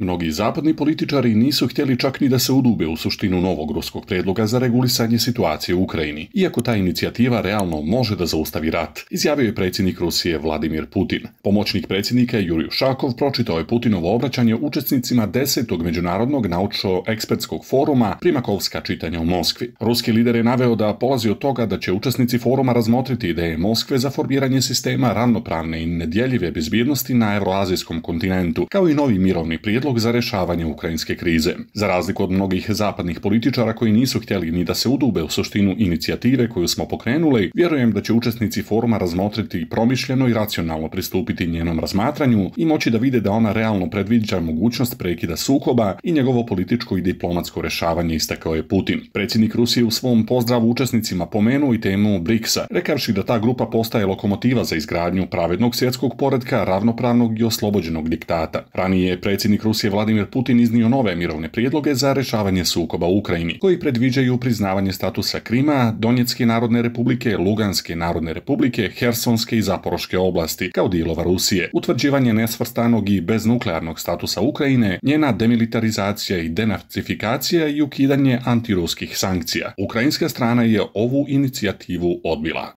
Mnogi zapadni političari nisu htjeli čak ni da se udube u suštinu novog ruskog predloga za regulisanje situacije u Ukrajini, iako ta inicijativa realno može da zaustavi rat, izjavio je predsjednik Rusije Vladimir Putin. Pomoćnik predsjednika Jurij Ušakov pročitao je Putinovo obraćanje učesnicima 10. međunarodnog naučno-ekspertskog foruma Primakovska čitanja u Moskvi. Ruski lider je naveo da polazi od toga da će učesnici foruma razmotriti ideje Moskve za formiranje sistema ravnopravne i nedjeljive bezbjednosti na evroazijskom kontinentu, kao i novi mirovni prijedlog za rješavanje ukrajinske krize. Za razliku od mnogih zapadnih političara koji nisu htjeli ni da se udube u suštinu inicijative koju smo pokrenuli, vjerujem da će učesnici foruma razmotriti promišljeno i racionalno pristupiti njenom razmatranju i moći da vide da ona realno predviđa mogućnost prekida sukoba i njegovo političko i diplomatsko rješavanje, istakao je Putin. Predsjednik Rusije u svom pozdravu učesnicima pomenuo i temu BRICS-a, rekavši da ta grupa postaje lokomotiva za izgradnju pravednog svjetskog poretka, ravnopravnog i oslobođenog diktata. Ranije je predsjednik Rusije Vladimir Putin iznio nove mirovne prijedloge za rješavanje sukoba u Ukrajini, koji predviđaju priznavanje statusa Krima, Donjetske narodne republike, Luganske narodne republike, Hersonske i Zaporoške oblasti kao dijelova Rusije, utvrđivanje nesvrstanog i beznuklearnog statusa Ukrajine, njena demilitarizacija i denacifikacija i ukidanje antiruskih sankcija. Ukrajinska strana je ovu inicijativu odbila.